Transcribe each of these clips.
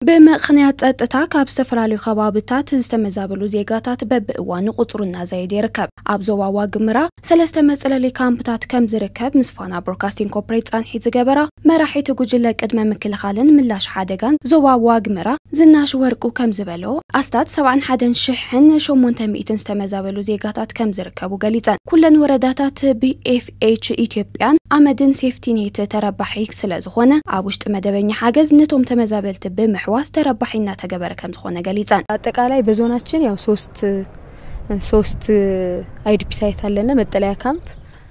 ብምኽንያት ጸጥታ ካብ ዝተፈላለዩ ከባብታት ዝተመዛበሉ ዜጋታት በብእዋኑ ቁጽሩ እናዘየደ ይርከብ። ኣብ ዞባ ዋግምራ ሰለስተ መጽለሊ ካምፕታት ከም ዝርከብ ምስ ፋና ብሮድካስቲንግ ኮርፖሬት ጻንሒት ዝገበራ መራሒት ጉጅለ ቅድመ ምክልኻልን ምላሽ ሓደጋን ዞባ ዋግምራ ዝናሽ ወርቁ ከም ዝበሎ፣ ኣስታት ሰብዓን ሓደን ሽሕን ሸሞንተ ሚእትን ዝተመዛበሉ ዜጋታት ከም ዝርከቡ ገሊጸን። ኩለን ወረዳታት ብኤፍኤች ኢትዮጵያን ኣመድን ሴፍቲኔት ተረባሒ ስለ ዝኾነ፣ ኣብ ውሽጢ መደበኛ ሓገዝ ነቶም ተመዛበልቲ ብምሕዋስ ተረባሒ እናተገበረ ከም ዝኾነ ገሊጸን። አጠቃላይ በዞናችን ያው ሶስት ሶስት አይዲፒ ሳይት አለና፣ መጠለያ ካምፕ።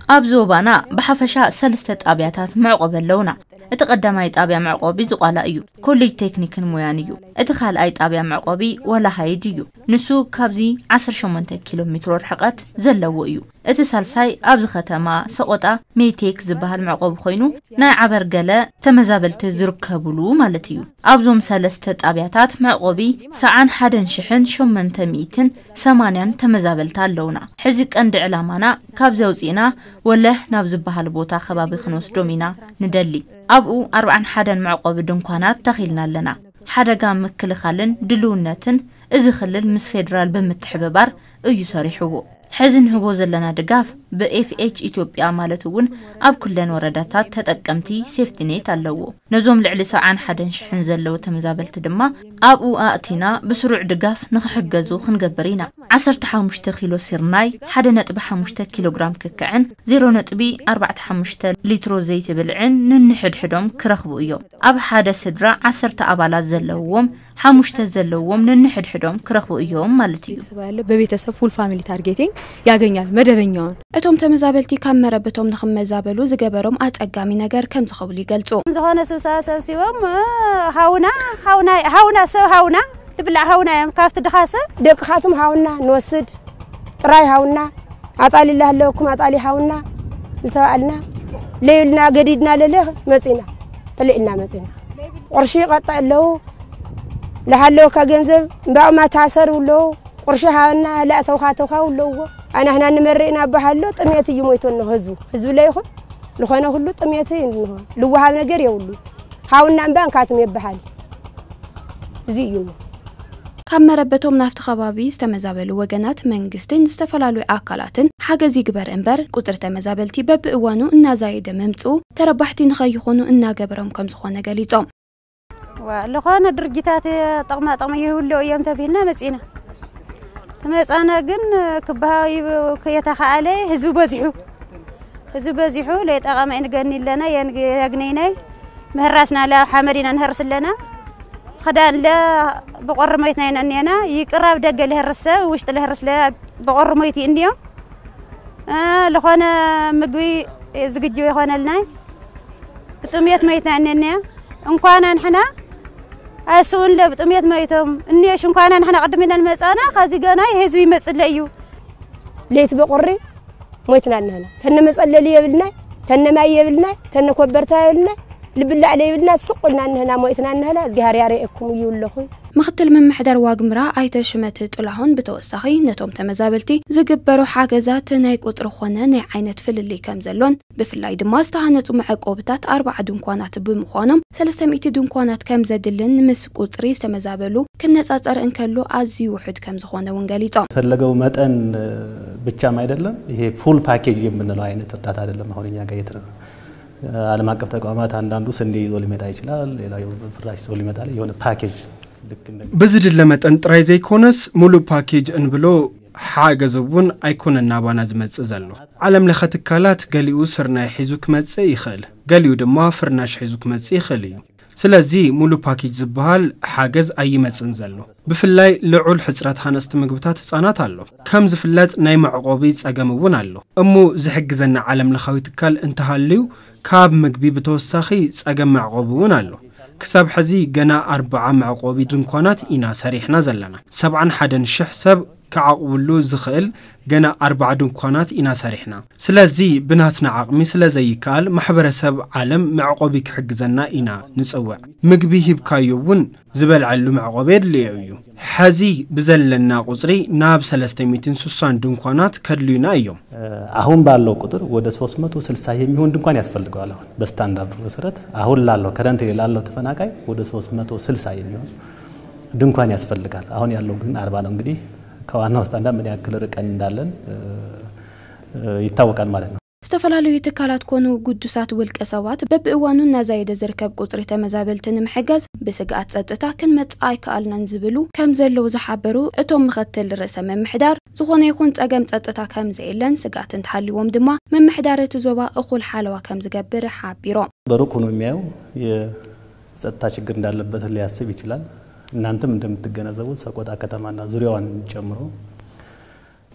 ኣብ ዞባና ብሓፈሻ ሰለስተ ጣብያታት መዕቆቢ ኣለውና። እቲ ቀዳማይ ጣብያ መዕቆቢ ዝቋላ እዩ፣ ኮሌጅ ቴክኒክን ሞያን እዩ። እቲ ካልኣይ ጣብያ መዕቆቢ ወላሃይድ እዩ። ንሱ ካብዚ ዓሰርተ ሸሞንተ ኪሎ ሜትሮ ርሕቀት ዘለዎ እዩ። እቲ ሳልሳይ ኣብዚ ከተማ ሰቆጣ ሜቴክ ዝበሃል መዕቆቢ ኮይኑ፣ ናይ ዓበርገለ ተመዛበልቲ ዝርከብሉ ማለት እዩ። ኣብዞም ሰለስተ ጣብያታት መዕቆቢ ሰዓን ሓደን ሽሕን ሸሞንተ ሚእትን ሰማንያን ተመዛበልቲ ኣለውና። ሕዚ ቀንዲ ዕላማና ካብዚ ኣውፂእና ወለህ ናብ ዝበሃል ቦታ ከባቢ ክንወስዶም ኢና ንደሊ። ኣብኡ ኣርብዓን ሓደን መዕቆቢ ድንኳናት ተኺልና ኣለና። ሓደጋ ምክልኻልን ድልውነትን እዚ ክልል ምስ ፌዴራል ብምትሕብባር እዩ ሰሪሕዎ። ሕዚ ንህቦ ዘለና ድጋፍ ብኤፍኤች ኢትዮጵያ ማለት እውን ኣብ ኩለን ወረዳታት ተጠቀምቲ ሴፍቲኔት ኣለዎ። ነዞም ልዕሊ ሰብዓን ሓደን ሽሕን ዘለዉ ተመዛበልቲ ድማ ኣብኡ ኣእቲና ብስሩዕ ድጋፍ ንኽሕገዙ ክንገብር ኢና። ዓሰርተ ሓሙሽተ ኪሎ ሲርናይ፣ ሓደ ነጥቢ ሓሙሽተ ኪሎ ግራም ክክዕን ዜሮ ነጥቢ ኣርባዕተ ሓሙሽተ ሊትሮ ዘይቲ ብልዕን ንንሕድሕዶም ክረኽቡ እዮም። ኣብ ሓደ ስድራ ዓሰርተ ኣባላት ዘለውዎም፣ ሓሙሽተ ዘለውዎም ንንሕድሕዶም ክረኽቡ እዮም ማለት እዩ። ቤተሰብ ያለው በቤተሰብ ፉል ፋሚሊ ታርጌቲንግ ያገኛል መደበኛውን። እቶም ተመዛበልቲ ካብ መረበቶም ንኽመዛበሉ ዝገበሮም ኣጸጋሚ ነገር ከም ዝኸብሉ ይገልጹ። ዝኾነ ስብሰባ ሰብሲቦም፣ እ፣ ሃውና፣ ሃውና፣ ሃውና፣ ሰብ ሃውና፣ ልብላዕ ሃውና እዮም ካብቲ ድኻ ሰብ። ደቅኻትም ሃውና ንወስድ፣ ጥራይ ሃውና፣ ኣጣሊ ላህለወኩም ኣጣሊ ሃውና ዝተባልና፣ ለይልና ገዲድና ለለ መጺና፣ ጥልእ ኢልና መጺና። ቁርሺ ይቐጣ ኣለዉ፣ ለሃለወካ ገንዘብ እምባኡማ ታሰር ኣለዉ፣ ቁርሺ ሃበና፣ ላእተውካ ተውካ ኣለዎ። ኣናህና ንመርእ ኢና በሃሎ፣ ጥሜት እዩ ሞይቶ እንሆ ህዝቡ። ህዝቡ ለይኹን፣ ልኾነ ኩሉ ጥሜት እዩ እንሆ። ልወሃብ ነገር የብሉ። ሃውና እምባ እንካትም የበሃል። እዚ እዩ እሞ። ካብ መረበቶም ናብቲ ከባቢ ዝተመዛበሉ ወገናት መንግስትን ዝተፈላለዩ ኣካላትን ሓገዝ ይግበር እምበር፣ ቁጽሪ ተመዛበልቲ በብእዋኑ እናዛየደ ምምጽኡ ተረባሕቲ ንኸይኾኑ እናገበሮም ከም ዝኾነ ገሊጾም። ዋ፣ ልኾነ ድርጅታት ጥቕማ ጥቕሚ ይህልዎ እዮም ተቢልና መጺና። ተመጻና ግን ክበሃው ይብ-፣ ከየተኻኣለ ህዝቢ በዚሑ። ህዝቢ በዚሑ ለይጠቐመ ንገኒ ኣለና፣ የን-፣ የግነይናይ ምህራስና ለ-፣ ኣብ ሓመድ ኢና ንህርስ ኣለና። ክዳን ለ ብቆሪ ሞይትና ኢና እኒአና። ይቅር ኣብ ደገ ልህርስ ሰብ፣ ውሽጢ ልህርስ ለ ብቆሪ ሞይት እዩ እንዲዮ። እ፣ ልኾነ ምግቢ ዝግጅው ይኾነልናይ። ብጥሜት ሞይትና እኒአና። እንኳን ንሕና ኣይስኡን ለ ብጥሜት ሞይቶም። እኒሽ እንኳን ንሕና ቅድም ኢለን መጻና፣ ከዚ ገና ህዝቢ ይመጽእ ለ እዩ። ለይቲ በቁሪ ሞይትና እንህና። ተነ መጸለሊ የብልናይ፣ ተነ ማይ የብልናይ፣ ተነ ኮበርታ የብልናይ፣ ልብላዕ ለይብልና ስቕ ኢልና እንህና ሞይትና እንህና። እግዚኣብሔር ያርኤኩም እዩ ኣለኹ። ምክትል ምምሕዳር ዋግምራ ኣይተ ሽመት ጥላሁን ብተወሳኺ ነቶም ተመዛበልቲ ዝግበሩ ሓገዛት ናይ ቁጽሪ ኾነ ናይ ዓይነት ፍልልይ ከም ዘሎን ብፍላይ ድማ ዝተሃነጹ መዕቆብታት ኣርባዓ ድንኳናት ብምዃኖም ሰለስተ ሚእቲ ድንኳናት ከም ዘድልን ምስ ቁጽሪ ዝተመዛበሉ ክነጻጸር እንከሎ ኣዝዩ ውሑድ ከም ዝኾነ እውን ገሊጾም። ፈለገው መጠን ብቻም አይደለም፣ ይሄ ፉል ፓኬጅ የምንለው አይነት እርዳታ አይደለም። አሁን እኛ ጋር የት-፣ ዓለም አቀፍ ተቋማት አንዳንዱ ስንዴ ይዞ ሊመጣ ይችላል፣ ሌላው ፍራሽ ይዞ ሊመጣ፣ የሆነ ፓኬጅ ልክ እንደ ብዝድለ መጠን ጥራይ ዘይኮነስ፣ ሙሉእ ፓኬጅ እንብሎ ሓገዝ እውን ኣይኮነን ናባና ዝመጽእ ዘሎ። ዓለም ለኸ ትካላት ገሊኡ ስርናይ ሒዙ ክመጽእ ይኽእል፣ ገሊኡ ድማ ፍርናሽ ሒዙ ክመጽእ ይኽእል እዩ። ስለዚ ሙሉእ ፓኬጅ ዝበሃል ሓገዝ ኣይመጽእን ዘሎ። ብፍላይ ልዑል ሕጽረት ሃነጽቲ ምግብታት ህጻናት ኣሎ። ከም ዝፍለጥ ናይ መዕቆቢ ጸገም እውን ኣሎ። እሞ ዝሕግዘና ዓለም ለኻዊ ትካል እንተሃልዩ ካብ ምግቢ ብተወሳኺ ጸገም መዕቆቢ እውን ኣሎ። ክሳብ ሕዚ ገና ኣርብዓ መዕቆቢ ድንኳናት ኢና ሰሪሕና ዘለና። ሰብዓን ሓደን ሽሕ ሰብ ክዓቕብሉ ዝኽእል ገና ኣርባዓ ድንኳናት ኢና ሰሪሕና። ስለዚ ብናትና ዓቕሚ ስለ ዘይከኣል ማሕበረሰብ ዓለም መዕቆቢ ክሕግዘና ኢና ንጽውዕ። ምግቢ ሂብካዮ እውን ዝበልዐሉ መዕቆቢ የድልዮ እዩ። ሕዚ ብዘለና ቁጽሪ ናብ ሰለስተ ሚእትን ስሳን ድንኳናት ከድልዩና እዮም። አሁን ባለው ቁጥር ወደ ሶስት መቶ ስልሳ የሚሆን ድንኳን ያስፈልገዋል። አሁን በስታንዳርዱ መሰረት አሁን ላለው ከረንት ላለው ተፈናቃይ ወደ ሶስት መቶ ስልሳ የሚሆን ድንኳን ያስፈልጋል። አሁን ያለው ግን አርባ ነው። እንግዲህ ከዋናው ስታንዳርድ ምን ያክል ርቀን እንዳለን ይታወቃል ማለት ነው። ዝተፈላለዩ ትካላት ኮኑ ግዱሳት ውልቀ ሰባት በብእዋኑ እናዛየደ ዝርከብ ቁፅሪ ተመዛበልቲ ንምሕጋዝ ብስግኣት ፀጥታ ክንመፅእ ኣይከኣልናን ዝብሉ ከም ዘለዉ ዝሓበሩ እቶም ምኽትል ርእሰ ምምሕዳር፣ ዝኾነ ይኹን ፀገም ፀጥታ ከም ዘየለን ስግኣት እንተሃልዎም ድማ ምምሕዳር እቲ ዞባ እኹል ሓለዋ ከም ዝገብር ሓቢሮም። በሩቅ ሆኖ የሚያየው የጸጥታ ችግር እንዳለበት ሊያስብ ይችላል። እናንተም እንደምትገነዘቡት ሰቆጣ ከተማና ዙሪያዋን ጨምሮ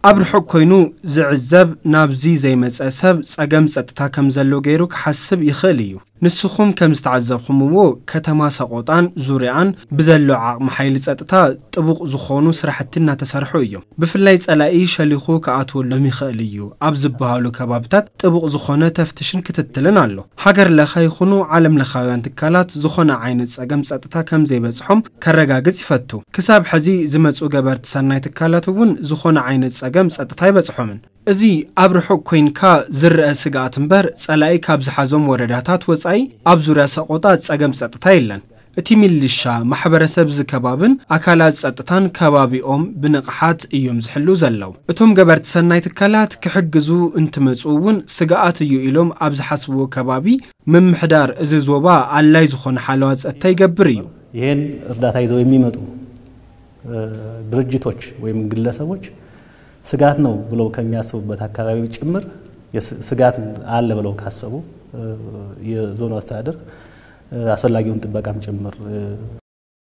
ኣብ ርሑቕ ኮይኑ ዝዕዘብ ናብዚ ዘይመጸ ሰብ ጸገም ጸጥታ ከም ዘሎ ገይሩ ክሓስብ ይኽእል እዩ። ንስኹም ከም ዝተዓዘብኹምዎ ከተማ ሰቆጣን ዙሪኣን ብዘሎ ዓቕሚ ሓይሊ ጸጥታ ጥቡቕ ዝኾኑ ስራሕቲ እናተሰርሑ እዮም። ብፍላይ ጸላኢ ሸሊኹ ክኣትወሎም ይኽእል እዩ ኣብ ዝበሃሉ ከባብታት ጥቡቕ ዝኾነ ተፍትሽን ክትትልን ኣሎ። ሃገር ለኸ ይኹኑ ዓለም ለኻውያን ትካላት ዝኾነ ዓይነት ጸገም ጸጥታ ከም ዘይበጽሖም ከረጋግጽ ይፈቱ። ክሳብ ሕዚ ዝመጹ ገበርቲ ሰናይ ትካላት እውን ዝኾነ ዓይነት ጸገም ጸጥታ ኣይበጽሖምን። እዚ ኣብ ርሑቕ ኮይንካ ዝረአ ስግኣት እምበር ጸላኢ ካብ ዝሓዞም ወረዳታት ወጻኢ ኣብ ዙርያ ሰቆጣ ጸገም ጸጥታ የለን። እቲ ሚሊሻ፣ ማሕበረሰብ እዚ ከባብን ኣካላት ጸጥታን ከባቢኦም ብንቕሓት እዮም ዝሕልው ዘለዉ። እቶም ገበርቲ ሰናይ ትካላት ክሕግዙ እንትመጹ እውን ስግኣት እዩ ኢሎም ኣብ ዝሓስብዎ ከባቢ ምምሕዳር እዚ ዞባ ኣላይ ዝኾነ ሓለዋ ጸጥታ ይገብር እዩ። ይሄን እርዳታ ይዘው የሚመጡ ድርጅቶች ወይም ግለሰቦች ስጋት ነው ብለው ከሚያስቡበት አካባቢ ጭምር ስጋት አለ ብለው ካሰቡ የዞኑ አስተዳደር አስፈላጊውን ጥበቃም ጭምር